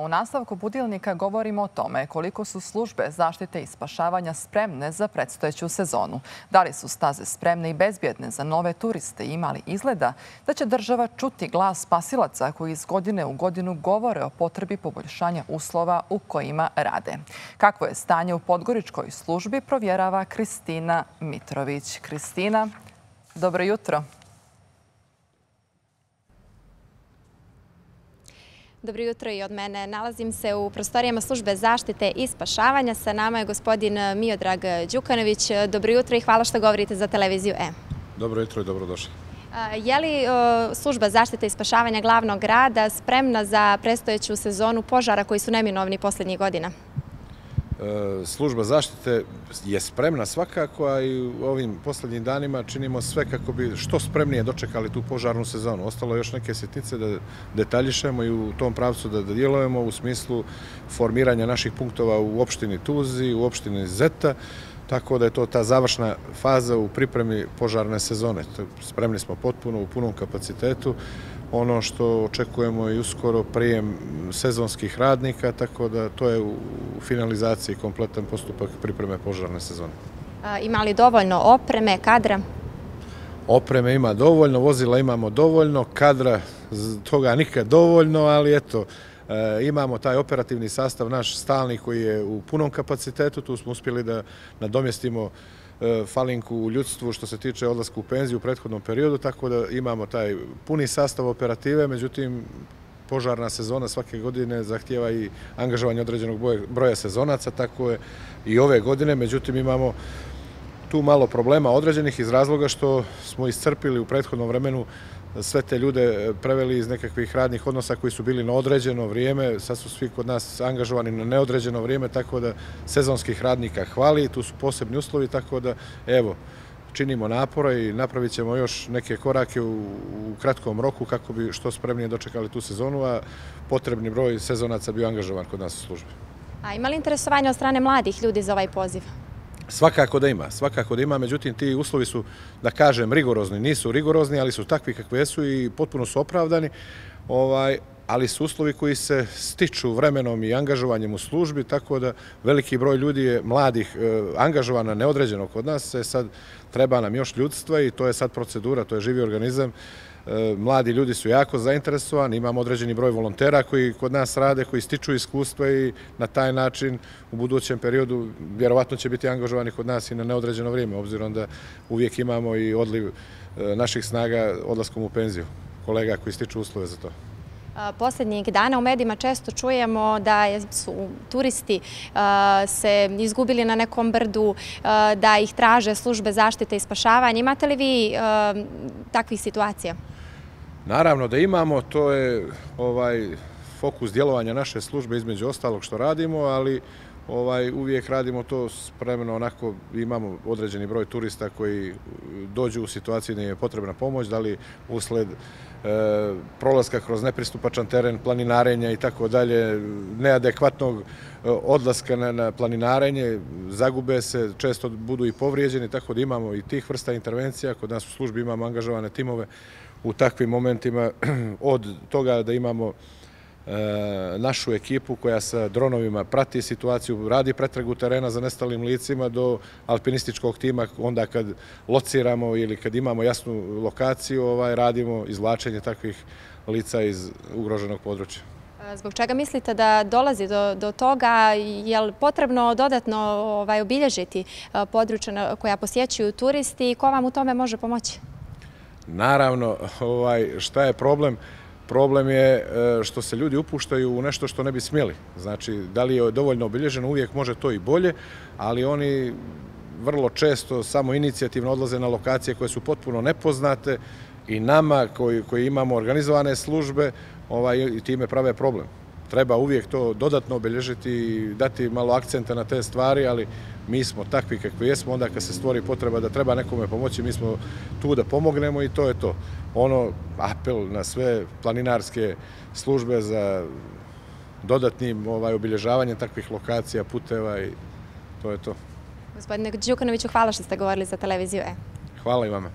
U nastavku budilnika govorimo o tome koliko su službe zaštite i spašavanja spremne za predstojeću sezonu. Da li su staze spremne i bezbjedne za nove turiste i ima li izgleda da će država čuti glas spasilaca koji iz godine u godinu govore o potrebi poboljšanja uslova u kojima rade. Kakvo je stanje u podgoričkoj službi provjerava Kristina Mitrović. Kristina, dobro jutro. Dobro jutro i od mene. Nalazim se u prostorijama službe zaštite i spašavanja. Sa nama je gospodin Miodrag Đukanović. Dobro jutro i hvala što govorite za televiziju E. Dobro jutro i dobrodošli. Je li služba zaštite i spašavanja glavnog grada spremna za predstojeću sezonu požara koji su neminovni posljednjih godina? Služba zaštite je spremna svakako, a i u ovim posljednjim danima činimo sve kako bi što spremnije dočekali tu požarnu sezonu. Ostalo je još neke sitnice da detaljišemo i u tom pravcu da djelujemo u smislu formiranja naših punktova u opštini Tuzi, u opštini Zeta, tako da je to ta završna faza u pripremi požarne sezone. Spremni smo potpuno u punom kapacitetu. Ono što očekujemo je uskoro prijem sezonskih radnika, tako da to je u finalizaciji kompletan postupak pripreme požarne sezone. Ima li dovoljno opreme, kadra? Opreme ima dovoljno, vozila imamo dovoljno, kadra toga nikad dovoljno, ali eto, imamo taj operativni sastav naš stalni koji je u punom kapacitetu. Tu smo uspjeli da nadomjestimo falinku u ljudstvu što se tiče odlaska u penziju u prethodnom periodu, tako da imamo taj puni sastav operative, međutim požarna sezona svake godine zahtijeva i angažovanje određenog broja sezonaca, tako je i ove godine, međutim imamo tu malo problema određenih iz razloga što smo iscrpili u prethodnom vremenu sve te ljude preveli iz nekakvih radnih odnosa koji su bili na određeno vrijeme, sad su svi kod nas angažovani na neodređeno vrijeme, tako da sezonskih radnika hvali, tu su posebni uslovi, tako da evo, činimo napora i napravit ćemo još neke korake u kratkom roku kako bi što spremnije dočekali tu sezonu, a potrebni broj sezonaca bio angažovan kod nas u službi. A ima li interesovanja od strane mladih ljudi za ovaj poziv? Svakako da ima, međutim ti uslovi su, da kažem, rigorozni. Nisu rigorozni, ali su takvi kakve jesu i potpuno su opravdani, ali su uslovi koji se stiču vremenom i angažovanjem u službi, tako da veliki broj ljudi je mladih angažovana neodređeno kod nas. Sad treba nam još ljudstva i to je sad procedura, to je živi organizam. Mladi ljudi su jako zainteresovani, imamo određeni broj volontera koji kod nas rade, koji stiču iskustva i na taj način u budućem periodu vjerovatno će biti angažovani kod nas i na neodređeno vrijeme, obzirom da uvijek imamo i odliv naših snaga odlaskom u penziju, kolega koji stiču uslove za to. Posljednjih dana u medijima često čujemo da su turisti se izgubili na nekom brdu, da ih traže službe zaštite i spašavanja. Imate li vi takvih situacija? Naravno da imamo, to je fokus djelovanja naše službe između ostalog što radimo, ali uvijek radimo to spremno, onako imamo određeni broj turista koji dođu u situaciju da im je potrebna pomoć, da li usled prolaska kroz nepristupačan teren, planinarenja i tako dalje, neadekvatnog odlaska na planinarenje, zagube se, često budu i povrijeđeni, tako da imamo i tih vrsta intervencija. Kod nas u službi imamo angažovane timove u takvim momentima, od toga da imamo našu ekipu koja sa dronovima prati situaciju, radi pretragu terena za nestalim licima do alpinističkog tima, onda kad lociramo ili kad imamo jasnu lokaciju, radimo izvlačenje takvih lica iz ugroženog područja. Zbog čega mislite da dolazi do toga? Je li potrebno dodatno obilježiti područja koja posjećuju turisti i ko vam u tome može pomoći? Naravno, šta je problem? Problem je što se ljudi upuštaju u nešto što ne bi smjeli. Znači, da li je dovoljno obilježeno, uvijek može to i bolje, ali oni vrlo često samo inicijativno odlaze na lokacije koje su potpuno nepoznate i nama koji imamo organizovane službe i time prave problem. Treba uvijek to dodatno obilježiti i dati malo akcenta na te stvari, ali mi smo takvi kakvi jesmo, onda kad se stvori potreba da treba nekome pomoći, mi smo tu da pomognemo i to je to. Apel na sve planinarske službe za dodatnim obilježavanjem takvih lokacija, puteva i to je to. Gospodine Đukanoviću, hvala što ste govorili za televiziju E. Hvala i vama.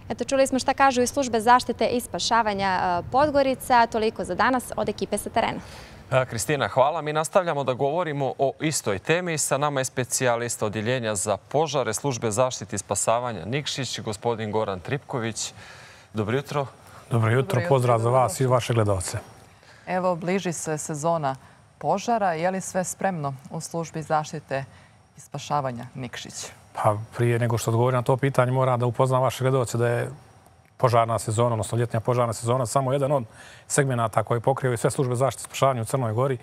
Eto, čuli smo šta kažu i službe zaštite i spašavanja Podgorica. Toliko za danas od ekipe sa terena. Kristina, hvala. Mi nastavljamo da govorimo o istoj temi. Sa nama je specijalista odjeljenja za požare službe zaštite i spasavanja Nikšić, gospodin Goran Tripković. Dobro jutro. Dobro jutro, pozdrav za vas i vaše gledalce. Evo, bliži se sezona požara. Je li sve spremno u službi zaštite i spašavanja Nikšić? Pa prije nego što odgovorim na to pitanje, moram da upoznam vaše gledalce da je požarna sezona, odnosno ljetnja požarna sezona, samo jedan od segmenata koji pokrivaju sve službe zaštite i spašavanja u Crnoj Gori.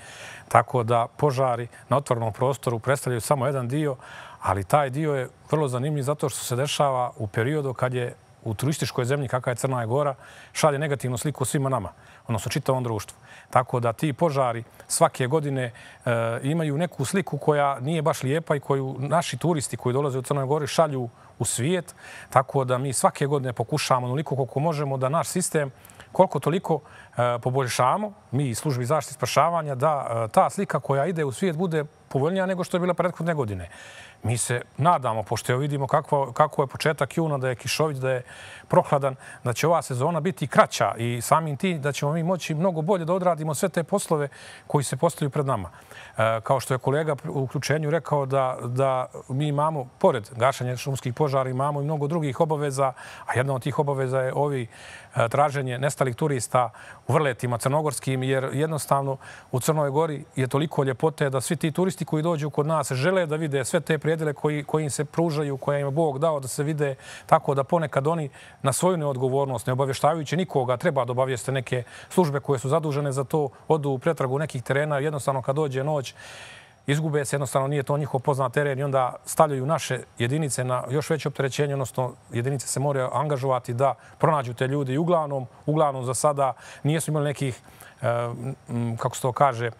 Tako da požari na otvorenom prostoru predstavljaju samo jedan dio, ali taj dio je vrlo zanimljiv zato što se dešava u periodu kad je u turističkoj zemlji kakva je Crna Gora šalje negativnu sliku svima nama, odnosno čitavom društvu. Tako da ti požari svake godine imaju neku sliku koja nije baš lijepa i koju naši turisti koji dolaze u Crnoj Gori šalju u svijet. Tako da mi svake godine pokušavamo onoliko koliko možemo da naš sistem koliko toliko poboljšamo, mi iz službi zaštite i spašavanja, da ta slika koja ide u svijet bude povoljnija nego što je bila prethodne godine. Mi se nadamo, pošto vidimo kako je početak juna, da je kišovit, da je prohladan, da će ova sezona biti kraća i samim tim da ćemo mi moći mnogo bolje da odradimo sve te poslove koji se postavljaju pred nama. Kao što je kolega u uključenju rekao da mi imamo, pored gašanja šumskih požara, imamo i mnogo drugih obaveza, a jedna od tih obaveza je traženje nestalih turista u vrletima crnogorskim, jer jednostavno u Crnoj Gori je toliko ljepote da svi ti turisti koji dođu kod nas žele da vide sve te prijedele koji im se pružaju, koje im je Bog dao da se vide, tako da ponekad oni na svoju neodgovornost, ne obavještavajući nikoga, treba da obavijeste neke službe koje su zadužene za to, odu u pretragu nekih terena, jednostavno kad dođe noć, izgube se, jednostavno nije to njihov poznat teren i onda stavljaju naše jedinice na još veće opterećenje, odnosno jedinice se moraju angažovati da pronađu te ljudi i uglavnom za sada nisu imali nekih, kako se to kaže,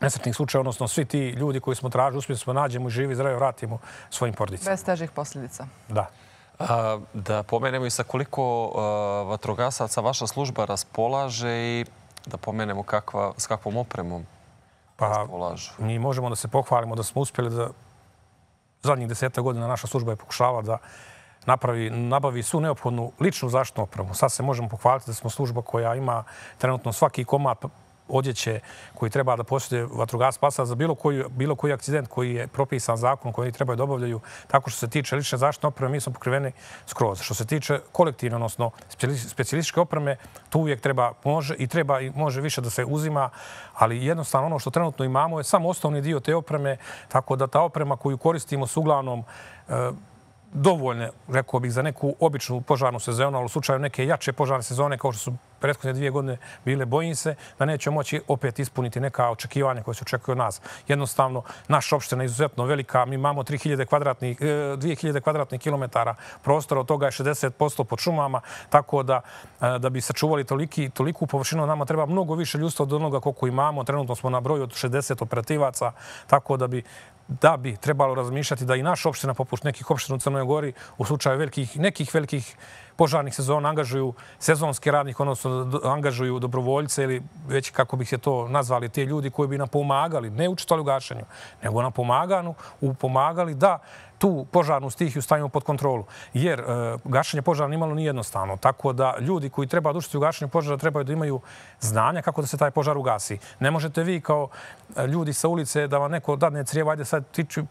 nesretnih slučaja, odnosno svi ti ljudi koji smo tražili, uspjeli smo nađemo i živi, zdravo vratimo svojim porodicama. Bez težih posljedica. Da. Da pomenemo i sa koliko vatrogasaca vaša služba raspolaže i da pomenemo s kakvom opremom raspolažu. Mi možemo da se pohvalimo da smo uspjeli da zadnjih 10 godina naša služba je pokušavala da nabavi svu neophodnu ličnu zaštitnu opremu. Sad se možemo pohvaliti da smo služba koja ima trenutno svaki komad odjeće koji treba da posjeduje vatrogasci spasa za bilo koji akcident koji je propisan zakon koji trebaju da obavljaju. Tako što se tiče lične zaštitne opreme, mi smo pokriveni skroz. Što se tiče kolektivne, odnosno specijalističke opreme, tu uvijek treba i može više da se uzima, ali jednostavno ono što trenutno imamo je samo osnovni dio te opreme, tako da ta oprema koju koristimo su uglavnom dovoljne, rekao bih, za neku običnu požarnu sezonu, ali u slučaju neke jače požarne sezone, kao što su prethodne 2 godine bile, bojim se da neće moći opet ispuniti neka očekivanja koje se očekuju od nas. Jednostavno, naša opština je izuzetno velika. Mi imamo 2000 kvadratnih kilometara prostora, od toga je 60% pod šumama, tako da bi sačuvali toliku površinu, nama treba mnogo više ljudstva od onoga koliko imamo. Trenutno smo na broju od 60 operativaca, tako da bi trebalo razmišljati da i naša opština, poput nekih opština u Crnoj Gori, u slučaju nekih velikih požarnih sezona angažuju sezonski radnik, odnosno angažuju dobrovoljce ili već kako bih se to nazvali, te ljudi koji bi nam pomagali, ne učestvovali u gašenju, nego nam pomagali da tu požarnu stihiju stavimo pod kontrolu. Jer gašenje požara nimalo nije jednostavno. Tako da ljudi koji treba da učestvuju u gašenju požara trebaju da imaju znanja kako da se taj požar ugasi. Ne možete vi kao ljudi sa ulice da vam neko dadne crijevo, ajde sad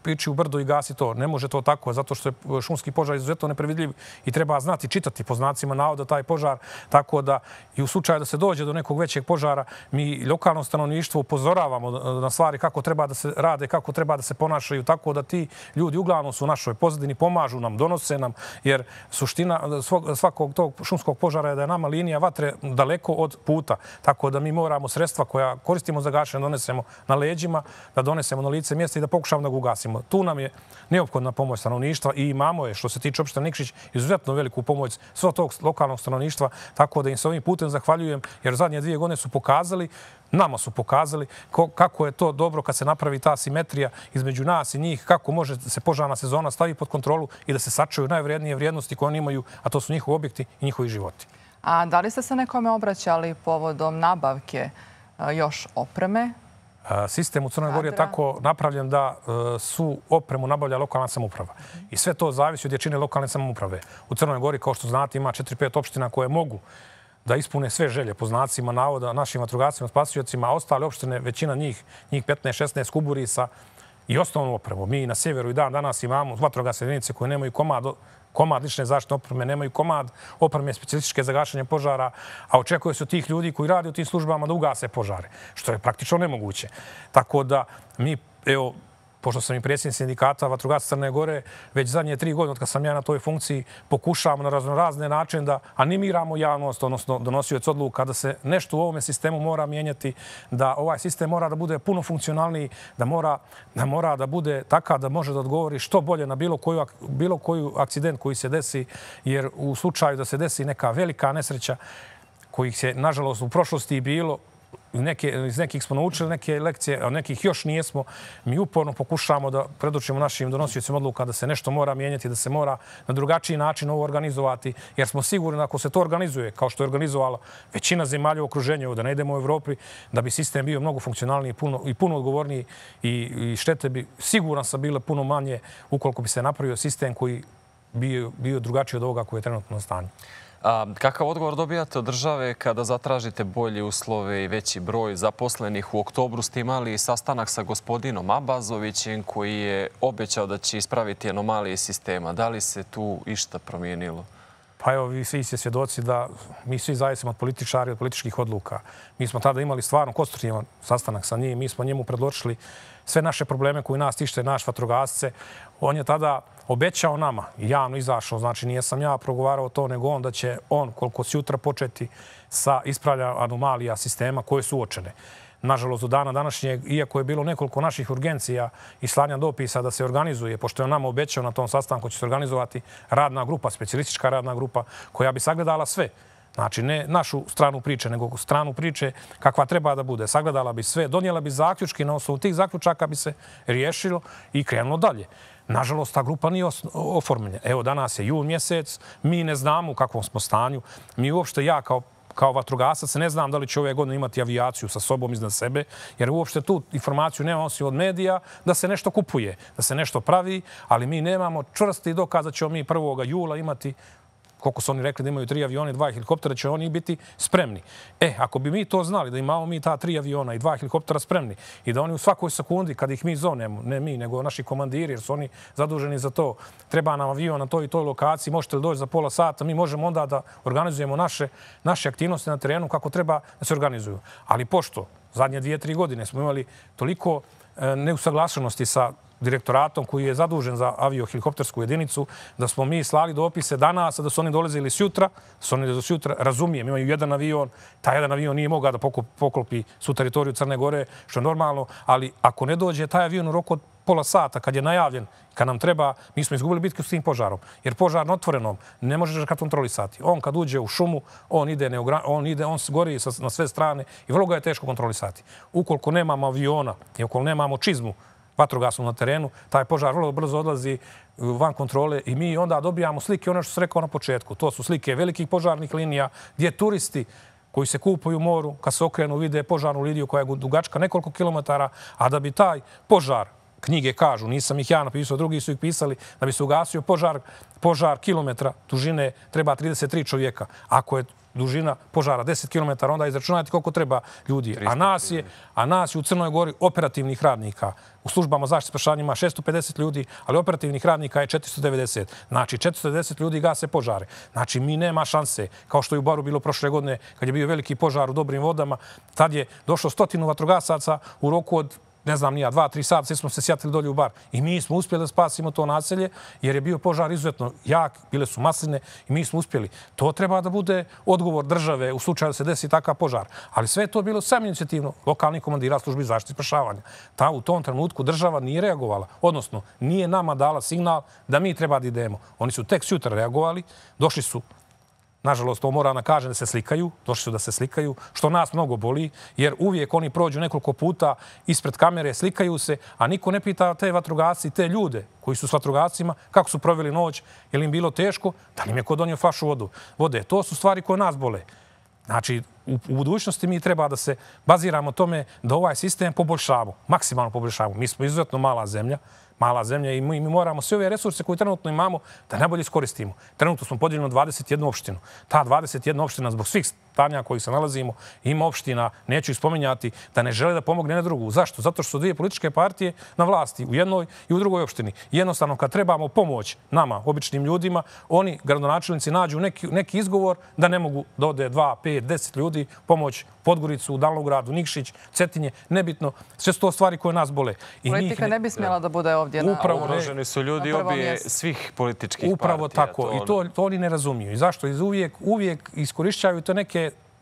piči u brdo i gasi to. Ne može to tako, zato što je šumski požar izuzetno neprevidljiv i treba znati čitati po znacima navoda taj požar. Tako da i u slučaju da se dođe do nekog većeg požara, mi lokalno stanovništvo upozoravamo na stvari kako treba da se rade, kako treba da se ponašaju, tako da ti ljudi uglavnom u našoj pozadini, pomažu nam, donose nam, jer suština svakog tog šumskog požara je da je nama linija vatre daleko od puta. Tako da mi moramo sredstva koja koristimo za gašenje donesemo na leđima, da donesemo na lice mjesta i da pokušamo da ga ugasimo. Tu nam je neophodna pomoć stanovništva i imamo je, što se tiče opštine Nikšić, izuzetno veliku pomoć svog tog lokalnog stanovništva, tako da im se ovim putem zahvaljujem, jer zadnje 2 godine su pokazali, nama su pokazali kako je to dobro kad se napravi ta simetrija između nas i njih, kako može se požarna sezona stavi pod kontrolu i da se sačuju najvrednije vrijednosti koje oni imaju, a to su njihovi objekti i njihovi životi. A da li ste se nekome obraćali povodom nabavke još opreme? Sistem u Crnoj Gori je tako napravljen da su opremu nabavlja lokalna samouprava. I sve to zavisi od jačine lokalne samouprave. U Crnoj Gori, kao što znate, ima 4-5 opština koje mogu da ispune sve želje po znacima navoda našim vatrogascima, spasiocima, a ostale opštine, većina njih 15-16 kuburi sa i osnovnu opremu. Mi na sjeveru i danas imamo vatrogasne jedinice koje nemaju komad lične zaštitne opreme, nemaju komad opreme specijalističke za gašenje požara, a očekuje se od tih ljudi koji rade u tim službama da ugase požare, što je praktično nemoguće. Tako da mi, evo, pošto sam i predsjednik sindikata vatrogasaca Crne Gore, već zadnje 3 godine od kad sam ja na toj funkciji, pokušavamo na raznorazne načine da animiramo javnost, odnosno donosioc odluka, da se nešto u ovome sistemu mora mijenjati, da ovaj sistem mora da bude puno funkcionalniji, da mora da bude takav da može da odgovori što bolje na bilo koju akcident koji se desi, jer u slučaju da se desi neka velika nesreća kojih se, nažalost, u prošlosti bilo, iz nekih smo naučili neke lekcije, a nekih još nijesmo. Mi uporno pokušamo da predočimo našim donosiocima odluka da se nešto mora mijenjati, da se mora na drugačiji način ovo organizovati, jer smo sigurni da ako se to organizuje, kao što je organizovala većina zemalja u okruženju, da ne idemo u Evropi, da bi sistem bio mnogo funkcionalniji i puno odgovorniji i štete bi siguran sam bile puno manje ukoliko bi se napravio sistem koji bio drugačiji od ovoga koji je trenutno na stanju. Kakav odgovor dobijate od države kada zatražite bolje uslove i veći broj zaposlenih? U oktobru ste imali sastanak sa gospodinom Abazovićem koji je obećao da će ispraviti anomalije sistema. Da li se tu išta promijenilo? Pa evo, vi svi ste svjedoci da mi svi zavisimo od političara i od političkih odluka. Mi smo tada imali stvarno konstruktivan sastanak sa njim. Mi smo njemu predložili sve naše probleme koji nas tište, naš vatrogasce. On je tada obećao nama i javno izašao, znači nije sam ja progovarao to, nego on da će on koliko sutra početi sa ispravljanjem anomalija sistema koje su uočene. Nažalost, do dana današnjeg, iako je bilo nekoliko naših urgencija i slanja dopisa da se organizuje, pošto je on nama obećao na tom sastanku će se organizovati radna grupa, specijalistička radna grupa, koja bi sagledala sve. Znači, ne našu stranu priče, nego stranu priče kakva treba da bude. Sagledala bi sve, donijela bi zaključke, na osnovu tih zaključaka bi se riješilo i krenulo dalje. Nažalost, ta grupa nije oformljena. Evo, danas je jun mjesec, mi ne znamo u kakvom smo stanju. Mi uopšte, ja kao vatrogasac, ne znam da li će ove godine imati avijaciju sa sobom iznad sebe, jer uopšte tu informaciju nemamo osim od medija da se nešto kupuje, da se nešto pravi, ali mi nemamo čvrsti dokaz da ćemo mi 1. jula imati, koliko su oni rekli da imaju 3 aviona i 2 helikoptera, će oni biti spremni. Ako bi mi to znali, da imamo mi ta 3 aviona i 2 helikoptera spremni i da oni u svakoj sekundi, kad ih mi zovnemo, ne mi, nego naši komandiri, jer su oni zaduženi za to, treba nam avion na toj i toj lokaciji, možete li doći za pola sata, mi možemo onda da organizujemo naše aktivnosti na terenu kako treba da se organizuju. Ali pošto zadnje 2-3 godine smo imali toliko neusaglašenosti sa direktoratom koji je zadužen za aviohelikoptersku jedinicu, da smo mi slali dopise danas, da su oni dolazili sutra, razumijem, imaju jedan avion, taj jedan avion nije mogao da poklopi su teritoriju Crne Gore, što je normalno, ali ako ne dođe taj avion u roku od pola sata, kad je najavljen, kad nam treba, mi smo izgubili bitku s tim požarom. Jer požar na otvorenom ne možeš ga kontrolisati. On kad uđe u šumu, on gori na sve strane i vrlo ga je teško kontrolisati. Ukoliko nemamo aviona i ukoliko nemamo čizmu vatrogasnu na terenu, taj požar vrlo brzo odlazi van kontrole i mi onda dobijamo slike, ono što sam rekao na početku. To su slike velikih požarnih linija gdje turisti koji se kupaju u moru, kad se okrenu, vide požarnu liniju koja je dugačka nekoliko kilometara, a da bi taj požar, knjige kažu, nisam ih ja napisao, drugi su ih pisali, da bi se ugasio požar kilometra dužine treba 33 čovjeka. Ako je dužina požara 10 km, onda izračunajte koliko treba ljudi. A nas je u Crnoj Gori operativnih radnika. U službama zaštite spašavanja ima 650 ljudi, ali operativnih radnika je 490. Znači, 490 ljudi gase požare. Znači, mi nema šanse, kao što je u Baru bilo prošle godine, kad je bio veliki požar u Dobrim vodama, tad je došlo 100 vatrogasaca u roku od ne znam nija, 2-3 sata, svi smo se sjatili dolje u bar. I mi smo uspjeli da spasimo to naselje, jer je bio požar izuzetno jak, bile su masline i mi smo uspjeli. To treba da bude odgovor države u slučaju da se desi takav požar. Ali sve je to bilo sam inicijativno lokalnih komandira službi zaštite i spašavanja. U tom trenutku država nije reagovala. Odnosno, nije nama dala signal da mi treba da idemo. Oni su tek sutra reagovali, došli su. Nažalost, to mora da kažem da se slikaju, došli su da se slikaju, što nas mnogo boli, jer uvijek oni prođu nekoliko puta ispred kamere, slikaju se, a niko ne pita te vatrogasci i te ljude koji su s vatrogascima, kako su proveli noć, je li im bilo teško, da li im je ko donio flašu vode. To su stvari koje nas bole. Znači, u budućnosti mi treba da se baziramo tome da ovaj sistem poboljšamo, maksimalno poboljšamo. Mi smo izuzetno mala zemlja, mala zemlja i mi moramo sve ove resurse koje trenutno imamo da najbolje iskoristimo. Trenutno smo podijeljeni na 21 opštinu. Ta 21 opština zbog svih stanja kojih se nalazimo ima opština, neću ih spominjati, da ne žele da pomogne na drugu. Zašto? Zato što su dvije političke partije na vlasti u jednoj i u drugoj opštini. Jednostavno, kad trebamo pomoć nama, običnim ljudima, oni, gradonačelnici, nađu neki izgovor da ne mogu da ode 2, 5, 10 ljudi pomoć Podgoricu, Davnogradu, Nikšić, Cetinje, nebitno. Sve su to stvari koje nas bole. Politika ne bi smjela da bude ovdje na prvom mjestu. Ugroženi su ljudi obje svih političkih partija. Upravo tako. I to oni ne razumiju. I zašto? Uvijek iskorišćavaju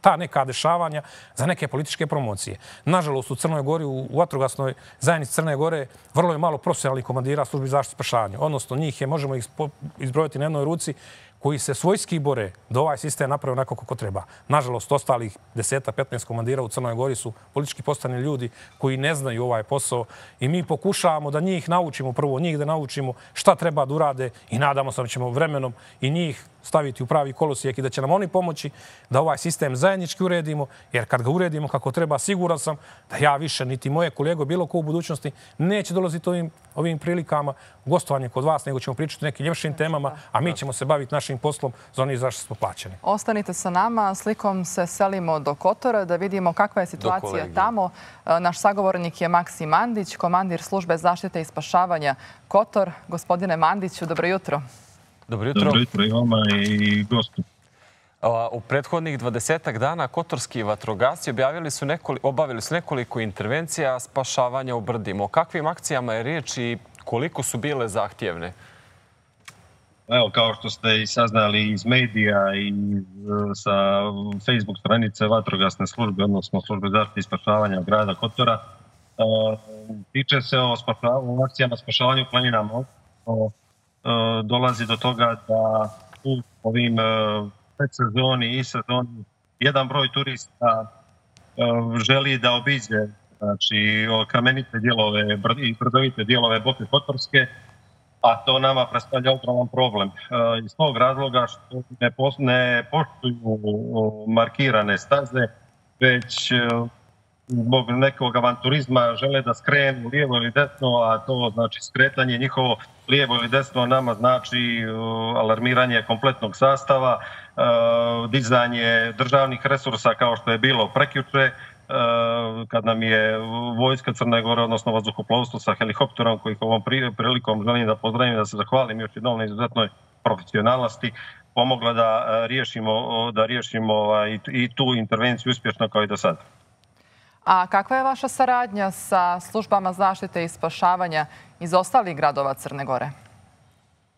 ta neka dešavanja za neke političke promocije. Nažalost, u Crnoj Gori, u vatrogasnoj zajednici Crne Gore, vrlo je malo profesionalnih komandira službi zaštite i spašavanja. Odnosno, njih je, možemo ih izbrojiti na jednoj ruci, koji se svojski bore da ovaj sistem napravi onako kako treba. Nažalost, ostalih 10-15 komandira u Crnoj Gori su politički postavljeni ljudi koji ne znaju ovaj posao i mi pokušavamo da njih naučimo, prvo njih da naučimo šta treba da urade i nadamo se da ćemo vremenom i njih staviti u pravi kolosijek i da će nam oni pomoći da ovaj sistem zajednički uredimo, jer kad ga uredimo kako treba, siguran sam da ja više, niti moje kolege, bilo ko u budućnosti, neće dolaziti ovim prilikama gostovanje kod vas, nego ćemo pričati o nekim ljepšim temama, a mi ćemo se baviti našim poslom za onih zašto smo plaćeni. Ostanite sa nama, slikom se selimo do Kotora da vidimo kakva je situacija tamo. Naš sagovornik je Maksim Mandić, komandir službe zaštite i spašavanja Kotor. Gospodine Mandiću, dobro jutro. Dobro jutro. Dobro jutro i vama i gostu. U prethodnih 20 dana kotorski vatrogasci obavili su nekoliko intervencija spašavanja u brdima. O kakvim akcijama je riječ i koliko su bile zahtjevne? Evo, kao što ste i saznali iz medija i sa Facebook stranice vatrogasne službe, odnosno službe zaštite i spašavanja grada Kotora, tiče se o akcijama spašavanja u planinama. Dolazi do toga da u ovim predsezoni i sezoni jedan broj turista želi da obiđe kamenite dijelove i brdovite dijelove Boke Kotorske, a to nama predstavlja ogroman problem. Iz tog razloga što ne poštuju markirane staze, već zbog nekog avanturizma žele da skrenu lijevo ili desno, a to znači skretanje njihovo lijevo ili desno nama znači alarmiranje kompletnog sastava, dizanje državnih resursa kao što je bilo prekjuče, kad nam je vojska Crne Gore, odnosno vazduhoplovstvo sa helikopterom, kojih ovom prilikom želim da pozdravim, da se zahvalim još jednom na izuzetnoj profesionalnosti, pomogla da riješimo i tu intervenciju uspješno kao i do sada. A kakva je vaša saradnja sa službama zaštite i spašavanja iz ostalih gradova Crne Gore?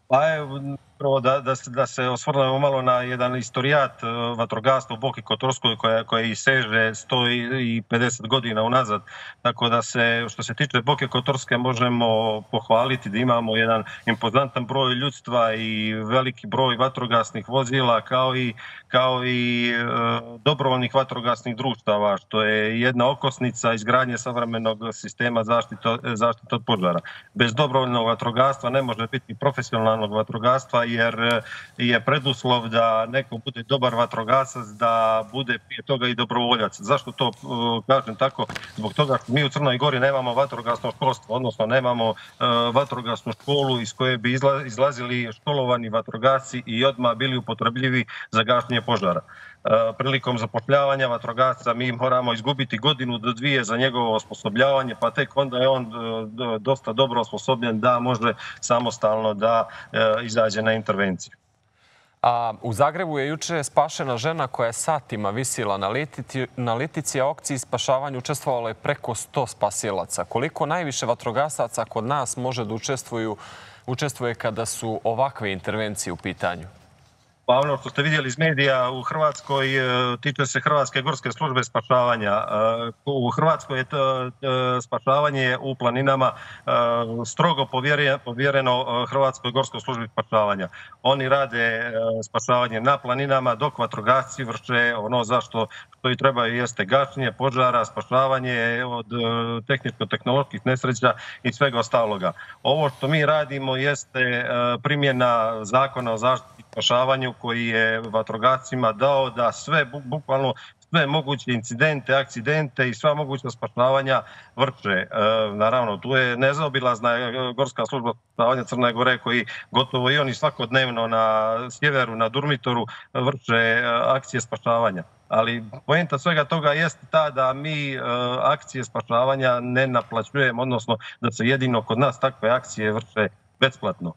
Pa evo, prvo da se osvrnemo malo na jedan istorijat vatrogastva u Boki Kotorskoj koje seže 150 godina unazad. Tako da se, što se tiče Boke Kotorske, možemo pohvaliti da imamo jedan impozantan broj ljudstva i veliki broj vatrogasnih vozila, kao i dobrovoljnih vatrogasnih društava, što je jedna okosnica izgradnje savremenog sistema zaštite od požara. Bez dobrovoljnog vatrogastva ne može biti profesionalnog vatrogastva, jer je preduslov da neko bude dobar vatrogasac, da bude prije toga i dobrovoljac. Zašto to kažem tako? Zbog toga što mi u Crnoj Gori nemamo vatrogasno školstvo, odnosno nemamo vatrogasnu školu iz koje bi izlazili školovani vatrogasci i odmah bili upotrebljivi za gašenje požara. Prilikom zapošljavanja vatrogasca mi moramo izgubiti godinu do dvije za njegovo osposobljavanje, pa tek onda je on dosta dobro osposobljen da može samostalno da izađe na intervenciju. A u Zagrebu je juče spašena žena koja je satima visila na litici, a u akciji spašavanja učestvovalo je preko 100 spasilaca. Koliko najviše vatrogasaca kod nas može da učestvuje kada su ovakve intervencije u pitanju? Pa ono što ste vidjeli iz medija u Hrvatskoj tiče se Hrvatske gorske službe spašavanja. U Hrvatskoj je spašavanje u planinama strogo povjereno Hrvatskoj gorskoj službi spašavanja. Oni rade spašavanje na planinama, dok vatrogasci vrše ono zašto i trebaju, jeste gašenje požara, spašavanje od tehničko-tehnoloških nesreća i svega ostaloga. Ovo što mi radimo jeste primjena zakona o zaštiti i spašavanju koji je vatrogascima dao da sve bukvalno sve moguće incidente, akcidente i sva moguća spašavanja vrše. Naravno, tu je nezaobilazna Gorska služba spašavanja Crne Gore koji gotovo i oni svakodnevno na sjeveru, na Durmitoru vrše akcije spašavanja. Ali poenta svega toga jeste ta da mi akcije spašavanja ne naplaćujemo, odnosno da se jedino kod nas takve akcije vrše besplatno.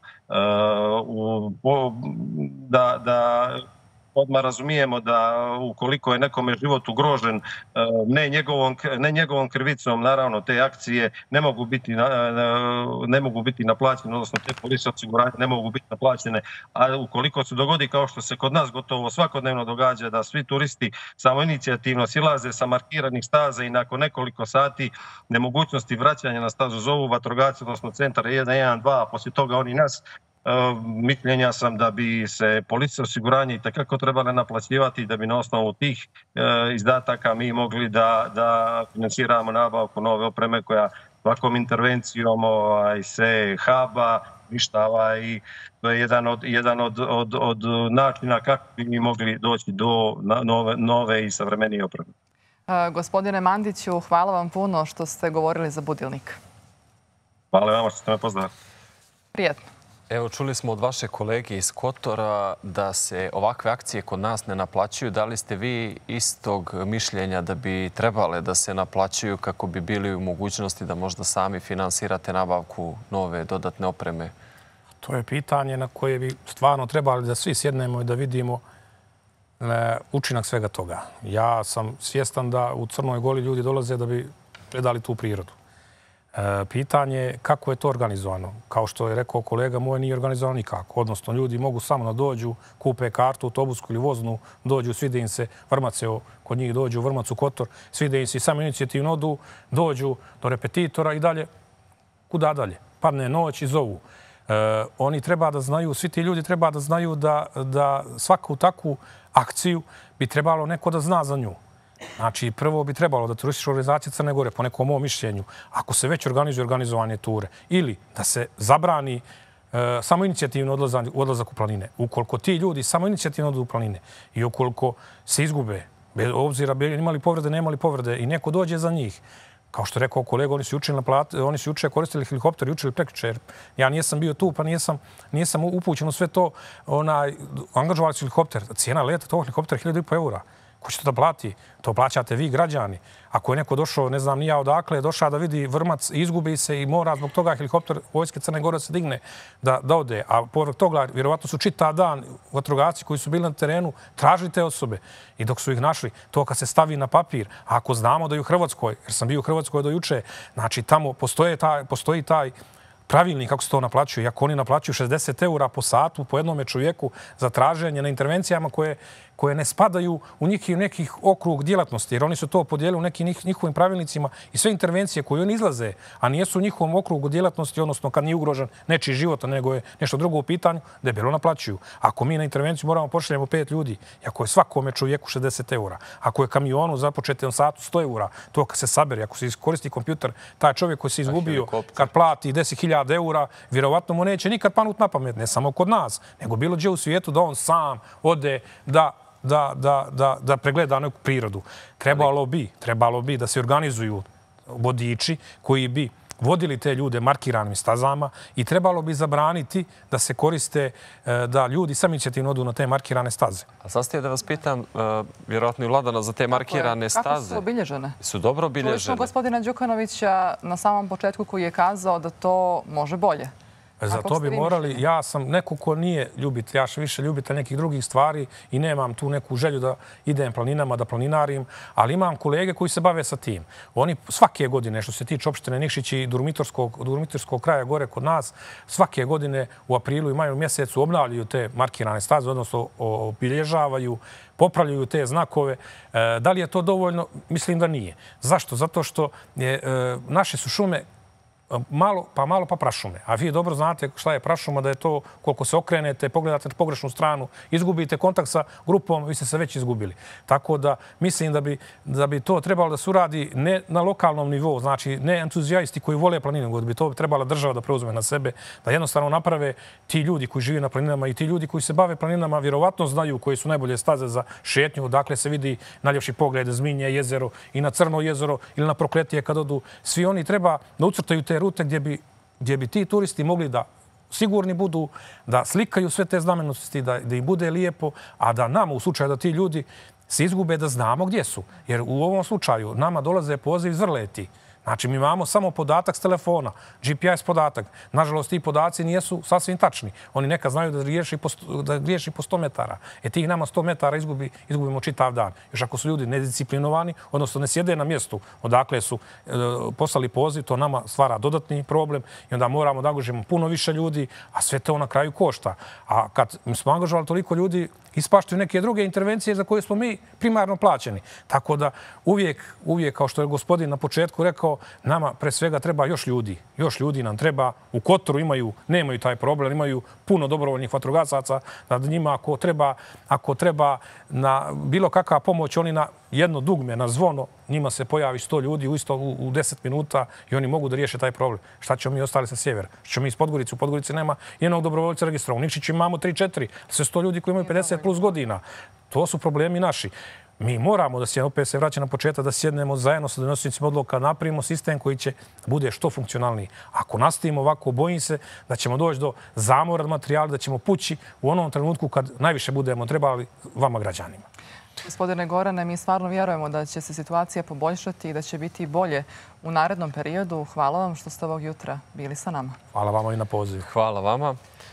Da odmah razumijemo da ukoliko je nekome život ugrožen, ne njegovom krivicom, naravno te akcije ne mogu biti naplaćene, odnosno te polise osiguranja ne mogu biti naplaćene, a ukoliko se dogodi kao što se kod nas gotovo svakodnevno događa da svi turisti samoinicijativno silaze sa markiranih staza i nakon nekoliko sati nemogućnosti vraćanja na stazu zovu vatrogasci, odnosno centar 112, a poslije toga oni nas, mišljenja sam da bi se police osiguranje itekako trebale naplaćivati, da bi na osnovu tih izdataka mi mogli da financiramo nabavku nove opreme koja svakom intervencijom se haba, ništava i to je jedan od načina kako bi mi mogli doći do nove i savremenije opreme. Gospodine Mandiću, hvala vam puno što ste govorili za Budilnik. Hvala vama što ste me pozvali. Prijetno. Evo, čuli smo od vaše kolege iz Kotora da se ovakve akcije kod nas ne naplaćuju. Da li ste vi istog mišljenja da bi trebale da se naplaćuju kako bi bili u mogućnosti da možda sami finansirate nabavku nove dodatne opreme? To je pitanje na koje bi stvarno trebali da svi sjednemo i da vidimo učinak svega toga. Ja sam svjestan da u Crnoj Gori ljudi dolaze da bi predali tu prirodu. Pitanje je kako je to organizovano. Kao što je rekao kolega moj, nije organizovano nikako. Odnosno, ljudi mogu samo da dođu, kupe kartu, autobusku ili voznu, dođu, svide im se Vrmac, kod njih dođu u Vrmac u Kotor, svide im se i samo inicijativno odu, dođu do repetitora i dalje. Kuda dalje? Padne noć i zovu. Oni treba da znaju, svi ti ljudi treba da znaju da svaku takvu akciju bi trebalo neko da zna za nju. Znači, prvo bi trebalo da turistička organizacija Crne Gore, po nekom mom mišljenju, ako se već organizuje organizovanje ture, ili da se zabrani samoinicijativno odlazak u planine. Ukoliko ti ljudi samoinicijativno odu u planine i ukoliko se izgube, bez obzira imali povrede, nemali povrede, i neko dođe za njih, kao što je rekao kolega, oni su juče koristili helikopter i učili prekjuče. Ja nisam bio tu, pa nisam upućen u sve to. Angažovali su helikopter. Cijena leta tog helikoptera je 1.500 eura. Ko će to da plati? To plaćate vi, građani. Ako je neko došao, ne znam ni ja odakle, došao da vidi Vrmac, izgubi se i mora zbog toga helikopter Vojske Crne Gore se digne da ode. A povrh toga, vjerovatno su čitav dan vatrogasci koji su bili na terenu tražili te osobe. I dok su ih našli, to kad se stavi na papir, a ako znamo da je u Hrvatskoj, jer sam bio u Hrvatskoj do juče, znači tamo postoji taj pravilnik kako se to naplaćuje. Ako oni naplaćuju 60 eura po satu po jednome čovjeku za traženje na intervencijama koje ne spadaju u nekih okrug djelatnosti, jer oni su to podijelili u nekim njihovim pravilnicima i sve intervencije koje oni izlaze, a nijesu u njihovom okrugu djelatnosti, odnosno kad nije ugrožen nečiji život, nego je nešto drugo u pitanju, debelo naplaćuju. Ako mi na intervenciju moramo pošaljemo 5 ljudi, i ako je svakome čovjeku 60 eura, ako je kamionu započete satu 100 eura, to kad se sabere, ako se iskoristi kompjuter, taj čovjek koji se izgubio, kad plati 10.000 eura, vjerovatno mu neće nikad panut na pamet, ne samo kod nas, nego bilo gdje u svijetu da on sam ode da pregleda neku prirodu. Trebalo bi da se organizuju vodiči koji bi vodili te ljude markiranim stazama i trebalo bi zabraniti da se koriste, da ljudi samoinicijativno odu na te markirane staze. A sad ste da vas pitam, vjerojatno i Vladana, za te markirane staze. Kako su obilježene? Su dobro obilježene. Čuli smo gospodina Đukanovića na samom početku koji je kazao da to može bolje. Za to bi morali, ja sam neko ko nije ljubitelj, ja više ljubitelj nekih drugih stvari i nemam tu neku želju da idem planinama, da planinarim, ali imam kolege koji se bave sa tim. Oni svake godine, što se tiče opštine Nikšić i Durmitorskog kraja gore kod nas, svake godine u aprilu i maju mjesecu obnavljaju te markirane staze, odnosno obilježavaju, popravljaju te znakove. Da li je to dovoljno? Mislim da nije. Zašto? Zato što naše su šume malo pa prašume. A vi dobro znate šta je prašuma, da je to koliko se okrenete, pogledate na pogrešnu stranu, izgubite kontakt sa grupom, vi ste se već izgubili. Tako da mislim da bi to trebalo da se uradi ne na lokalnom nivou, znači ne entuzijaisti koji vole planinu, nego bi to trebala država da preuzme na sebe, da jednostavno naprave ti ljudi koji žive na planinama i ti ljudi koji se bave planinama vjerovatno znaju koji su najbolje staze za šetnju, dakle se vidi najljepši pogled, Zminje jezero i na Crno jezero ili na Prokletije kad odu. Svi oni treba da ucrtaju te rute gdje bi ti turisti mogli da sigurni budu, da slikaju sve te znamenitosti, da im bude lijepo, a da nama u slučaju da ti ljudi se izgube da znamo gdje su. Jer u ovom slučaju nama dolaze poziv iz Vrleti. Znači, mi imamo samo podatak s telefona, GPS podatak. Nažalost, ti podaci nijesu sasvim tačni. Oni nekad znaju da griješi po 100 metara. Tih nama 100 metara izgubimo čitav dan. Još ako su ljudi nedisciplinovani, odnosno ne sjede na mjestu odakle su poslali poziv, to nama stvara dodatni problem i onda moramo da angažujemo puno više ljudi, a sve to na kraju košta. A kad smo angažovali toliko ljudi, ispaštaju neke druge intervencije za koje smo mi primarno plaćeni. Tako da uvijek, kao što je gospodin na početku rekao, nama pre svega treba još ljudi. Još ljudi nam treba. U Kotoru nemaju taj problem, imaju puno dobrovoljnih vatrogasaca, da njima ako treba na bilo kakva pomoć, oni na jedno dugme, na zvono, njima se pojavi 100 ljudi u 10 minuta i oni mogu da riješe taj problem. Šta ćemo mi ostali sa sjevera? Šta ćemo mi iz Podgorice? U Podgorici nema jednog dobrovoljca registrova. U Nikšiću imamo 3-4. Sve 100 ljudi koji imaju 50 plus godina. To su problemi naši. Mi moramo da se, opet se vraća na početak, da sjednemo zajedno sa donosnicima odluka, napravimo sistem koji će bude što funkcionalniji. Ako nastavimo ovako, bojim se da ćemo doći do zamora materijala, da ćemo pući u onom trenutku kad najviše budemo trebali vama građanima. Gospodine Gorane, mi stvarno vjerujemo da će se situacija poboljšati i da će biti bolje u narednom periodu. Hvala vam što ste ovog jutra bili sa nama. Hvala vama i na pozivu. Hvala vama.